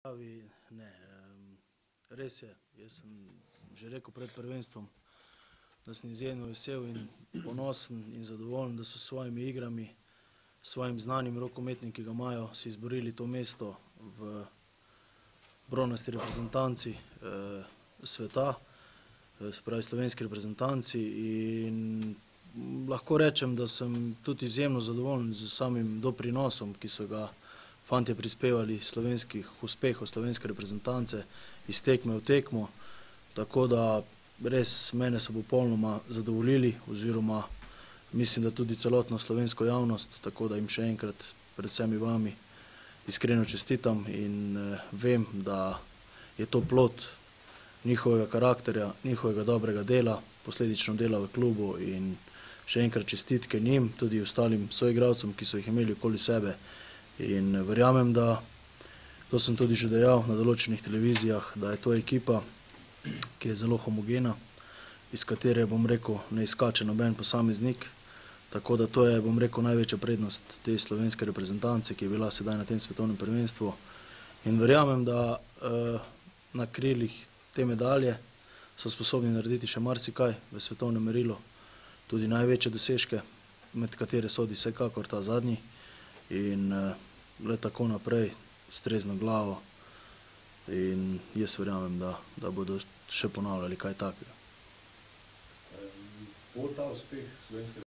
Ne, res je. Jaz sem že rekel pred prvenstvom, da sem izjemno vesel in ponosen in zadovoljen, da so s svojimi igrami, s svojim znanjem rokometnim, ki ga imajo, si izborili to mesto v bronasti reprezentanci sveta, se pravi slovenski reprezentanci, in lahko rečem, da sem tudi izjemno zadovoljen z samim doprinosom, ki so ga fantje prispevali slovenskih uspehov, slovenske reprezentance iz tekme v tekmo, tako da res mene so popolnoma zadovoljili oziroma mislim, da tudi celotno slovensko javnost, tako da jim še enkrat pred vsemi vami iskreno čestitam in vem, da je to plod njihovega karakterja, njihovega dobrega dela, posledično dela v klubu, in še enkrat čestitke njim, tudi ostalim soigralcem, ki so jih imeli okoli sebe. In verjamem, da, to sem tudi že dejal na določenih televizijah, da je to ekipa, ki je zelo homogena, iz katere, bom rekel, ne izskače noben posameznik, tako da to je, bom rekel, največja prednost te slovenske reprezentance, ki je bila sedaj na tem svetovnem prvenstvu. In verjamem, da na krilih te medalje so sposobni narediti še marsikaj v svetovnem merilu, tudi največje dosežke, med katere sodi vsekakor ta zadnji, in le tako naprej, s trezno glavo, in jaz verjamem, da bodo še ponavljali kaj takega. Bo ta uspeh slovenske